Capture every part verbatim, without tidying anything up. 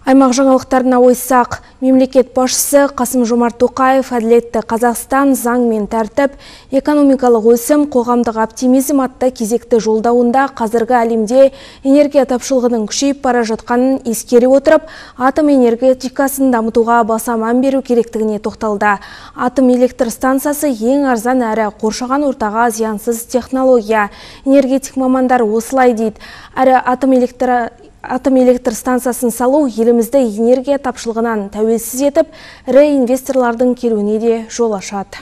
Аймақ жаңалықтарына ойсақ, мемлекет басшысы Қасым-Жомарт Тоқаев әділетті Қазақстан, заң мен тәртіп, экономикалық өсім, қоғамдық оптимизм атты кезекті жолдауында қазіргі әлемде энергия тапшылығының күшейіп бара жатқанын ескере отырып, атом энергетикасын дамытуға баса мән беру керектігіне тоқталды. Атом электр станциясы ең арзан әрі қоршаған ортаға зиянсыз технология. Энергетик мамандар осылай дейді. Әрі атом электр Атом электр станциясын салу елімізді энергия тапшылығынан тәуелсіз етіп, ірі инвесторлардың келуіне де жол ашады.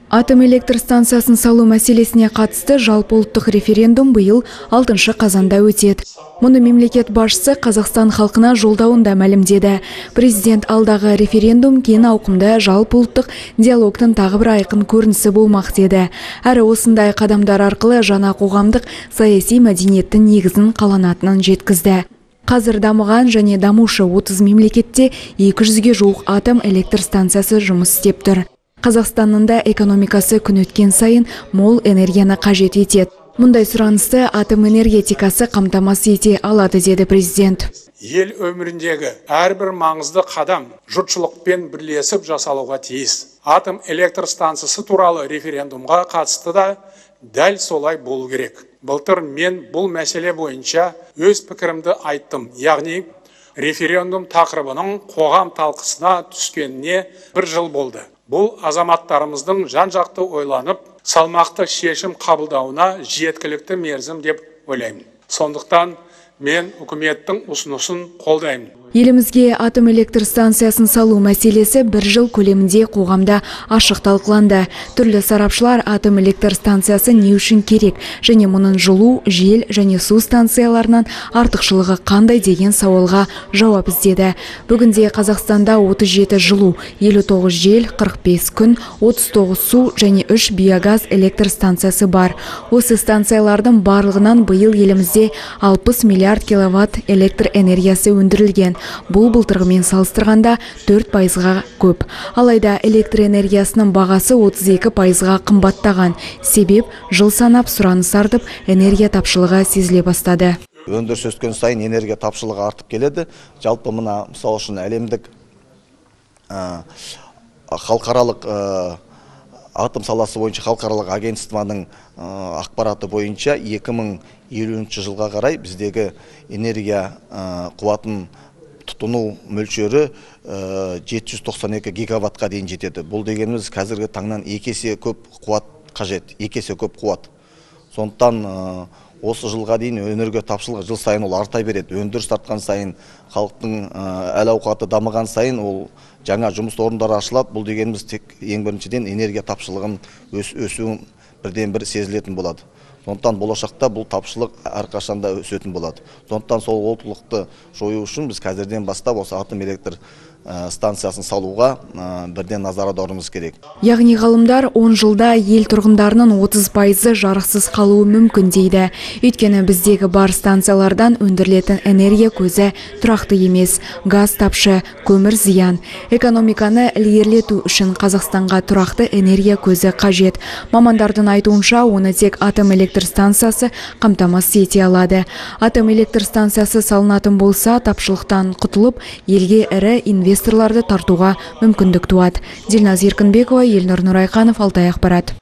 Атом электр станциясын салу мәселесіне қатысты жалпы ұлттық референдум биыл алтыншы қазанда өтеді. Мұны мемлекет басшысы Қазақстан халқына жолдауында мәлімдеді. Президент алдағы референдум кең ауқымды жалпы ұлттық диалогтың тағы бір айқын көрінісі болмақ деді. Әрі осындай қадамдар арқылы жаңа қоғамдық саяси мәдениеттің негізін қаланатынын жеткізді. Қазір дамыған және дамушы отыз мемлекетте екі жүзге жуық атом электр станциясы жұмыс істеп тұр. Қазақстанның да экономикасы күн өткен сайын мол энергияны қажет етеді. Мұндай сұранысты атом энергетикасы қамтамасыз ете алады, деді президент. Ел өміріндегі әрбір маңызды қадам жұртшылықпен бірлесіп жасалуға тиіс. Атом электр станциясы туралы референдумға қатысты да дәл солай болу керек. Былтыр мен бұл мәселе бойынша өз пікірімді айттым, яғни референдум тақырыбының қоғам талқысына түскеніне бір жыл болды. Бұл азаматтарымыздың жан-жақты ойланып, салмақты шешім қабылдауына жеткілікті мерзім деп ойлаймын. Сондықтан мен үкіметтің ұсынысын қолдаймын. Елімізге атом электр станциясын салу мәселесі бір жыл көлемінде қоғамда ашық талқыланды. Түрлі сарапшылар атом электр станциясы не үшін керек және мұның жылу, жел және су станцияларынан артықшылығы қандай деген сауалға жауап іздеді. Бүгінде Қазақстанда отыз жеті жылу, елу тоғыз жел, қырық бес күн, отыз тоғыз су және үш биогаз электр станциясы бар. Осы станциялардың барлығынан биыл елімізде алпыс миллиард киловатт электр энергиясы өндірілген. Бұл былтырғымен салыстырғанда төрт пайызға көп. Алайда электр энергиясының бағасы отыз екі пайызға қымбаттаған. Себеп жыл санап сұраныс артып, энергия тапшылығы сезіле бастады. Өндіріс өскен сайын энергия тапшылығы артып келеді. Жалпы мына мысалы үшін әлемдік халықаралық атом саласы бойынша халықаралық агентствоның ақпараты бойынша екі мың елуінші жылға қарай біздегі энергия қуатын тұтыну мөлшері жеті жүз тоқсан екі гигаваттқа дейін жетеді. Бұл дегеніміз қазіргі таңнан екі есе көп қуат қажет, екі есе көп қуат. Сондықтан осы жылға дейін энергия тапшылығы жыл сайын ол арта береді. Өндіріс артқан сайын, халықтың әл-ауқаты дамыған сайын ол жаңа жұмыс орындары ашылады. Бұл дегеніміз тек ең біріншіден энергия тапшылығын өсуін бірден бір сезілетін болады. Сондықтан болашақта бұл тапшылық әрқашанда өсетін болады. Сондықтан сол олқылықты жою үшін біз қазірден бастап осы атом электр станциясын салуға бірден назар аударуымыз керек. Яғни ғалымдар он жылда ел тұрғындарының отыз пайызы жарықсыз қалуы мүмкін дейді. Өйткені біздегі бар станциялардан өндірілетін энергия көзі тұрақты емес, газ тапшы, көмір зиян. Экономиканы ілгерілету үшін Қазақстанға тұрақты энергия көзі қажет. Мамандардың айтуынша, оны тек атом электр станциясы қамтамасыз ете алады. Атом электр станциясы салынатын болса, тапшылықтан құтылып, елге ірі инвесторларды тартуға мүмкіндік туады. Дильназ Еркінбекова, Елнұр Нұрайқанов, Алтай ақпарат.